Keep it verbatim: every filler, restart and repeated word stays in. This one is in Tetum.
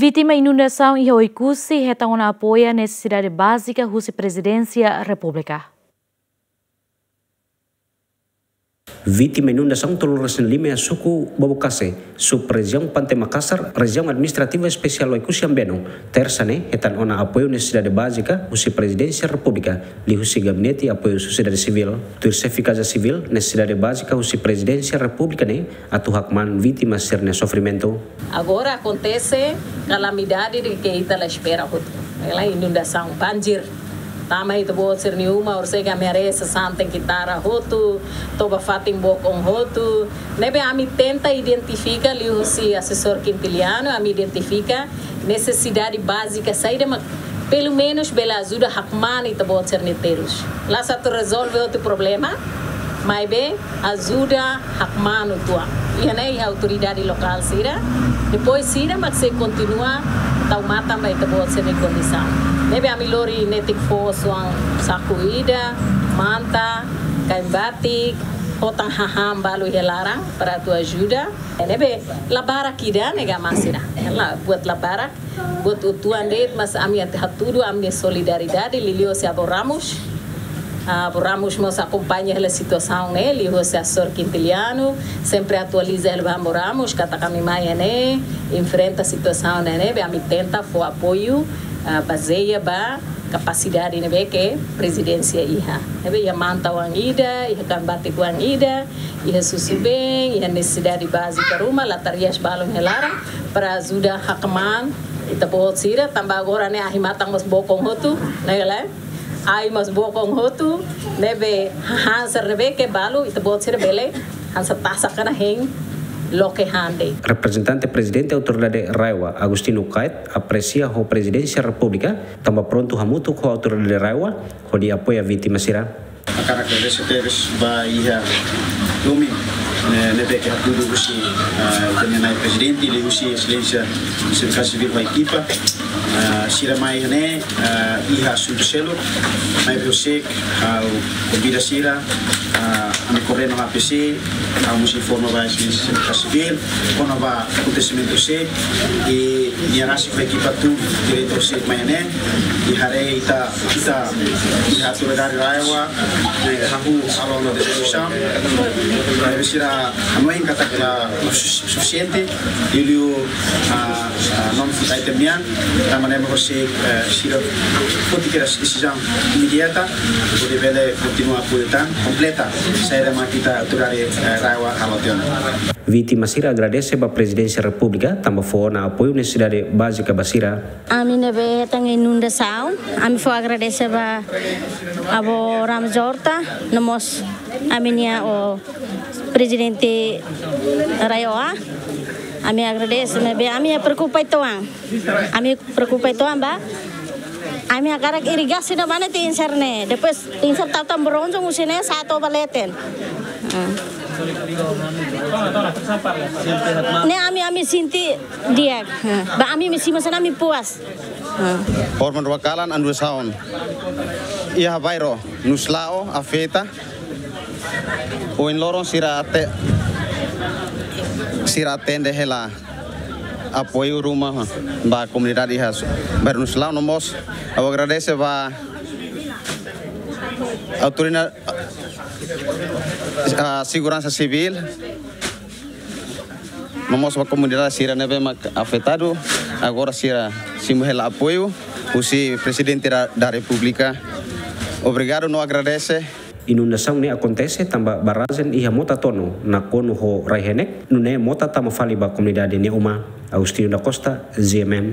Vítima inundasaun iha Oekusi hetan ona apoiu nesesidade bázika husi Prezidénsia Repúblika. Vítima inundasaun tolunulu-resin-lima iha suku Bobokase, sub-rejiaun Pante Makasar, Rejiaun Administrativa Espesiál Oekusi Ambeno, Tersa ne'e hetan ona apoiu nesesidade bázika husi Prezidénsia Repúblika, liuhusi Gabinete Apoiu Sosiedade Sivíl. Tuir Xefe Kaza Sivíl, nesesidade bázika husi Prezidénsia Repúblika ne'e atu hakmaan vítima sira-nia sofrimentu. Agora akontese kalamidade ne'ebé ita la espera hotu. Ne'e inundasaun, banjir. Tama ita-boot sira-nia uma, orsida ami haree sasán tenke tara hotu, toba fatin bokon hotu. Ne'ebé ami tenta identifika, liuhusi asesór Quintiliano, ami identifika nesesidade bázika saida mak pelumenus bele ajuda hakmaan ita-boot sira-nia terus. La sá atu rezolve hotu problema, maibé ajuda hakmaan uitoan. Iha ne'e iha autoridade lokál sira, depois sira mak sei kontinua tau matan ba ita-boot sira-nia kondisaun. Ne'ebé ami lori netik foos oan saku ida, manta, kain-batik, hotan hahán balu iha laran para atu ajuda. Ne'ebé la barak ida ne'e ka masina. La buat la barak, buat uitoan de'it, mas ami atu hatudu ami-nia solidariedade, liuliu husi Avó Ramos. Ah, Avó Ramos mós akompaña hela situasaun ne'e, liuhusi asesór Quintiliano, sempre atualiza hela ba Avó Ramos, katak ami mai ne'e, enfrenta situasaun ne'e, ne'ebé ami tenta fó apoiu, ah, bazeia ba kapasidade ne'ebé ke Prezidénsia iha. Ne'ebé iha manta oan ida, iha kain-batik oan ida, iha susubeen, iha nesesidade bázika ruma, latarias balun iha laran, para ajuda hakmaan ita-boot sira, tanba agora ne'e ahi matan mós bokon hotu, ne'e ka lae? Ai mós bokon hotu, ne'ebé hahán sira ne'ebé ke balu, ita-boot sira bele hanesan tasak ona hein, loke han de'it. Reprezentante Prezidente Autoridade RAEOA, Agostinho Kait, apresia ho Prezidénsia Repúblika, tanba prontu hamutuk ho Autoridade RAEOA, hodi apoia vítima sira. Hakarak agradese tebes ba iha domin, eh, ne'ebé ke hatudu husi, eh, ita-nia Na'i Prezidente, liuhusi Exelénsia Xefe Kaza Sivíl ho ekipa, eh, sira mai ne'e, eh, iha asuntu seluk, maibé ha'u konvida sira, eh, ami koordena ho A P C, ami mós informa ba Exelénsia Xefe Kaza Sivíl, kona-ba akontesimentu sira, i nia rasik ho ekipa tuir diretór sira mai ne'e, i haree ita, ita, iha Autoridade RAEOA, eh, hahú halo ona diskusaun, eh, sira hanoin katak la sufisiente, liuliu, ah, ah, non food item nian, tanba ne'e mak hosi, eh, sira foti kedas desizaun imediata, hodi bele kontinua apoiu tan, kompleta saida mak ita Autoridade, eh, RAEOA halo tiha ona. Vítima sira agradese ba Prezidénsia Repúblika, tanba fó ona apoiu nesesidade bázika ba sira. Ami ne'ebé hetan inundasaun, ami fó agradese ba Avó Ramos Horta, no mós ami-nia ó Prezidente RAEOA, ami agradese, maibé ami preokupa uitoan. Ami preokupa uitoan ba. Ami hakarak irigasi no bane te insar ne'e. Depois te insar tau tan bronzong husi ne'e sa'e to'o ba leten. Ah. Ne'e ami, ami sente di'ak. Ah. Ba ami mesi masa ami puas. Ah. Forma dua kalan andu saun. Iha bairru Nuslao afeta. Ohin loron sira ate-, sira atende hela apoiu ruma ba komunidade iha bairru Nuslao no mós. Ha'u agradese ba autoridade, ah, seguransa sivíl. No mós ba komunidade sira ne'ebé mak afetadu, agora sira simu hela apoiu husi Prezidente da, da Repúblika. Obrigadu no agradese. Inundasaun ne'e akontese tanba barrajen iha Mota Tono, nakonu ho rai-henek, nune'e mota tama fali ba komunidade nia uma. Agostinho da Costa, G M N.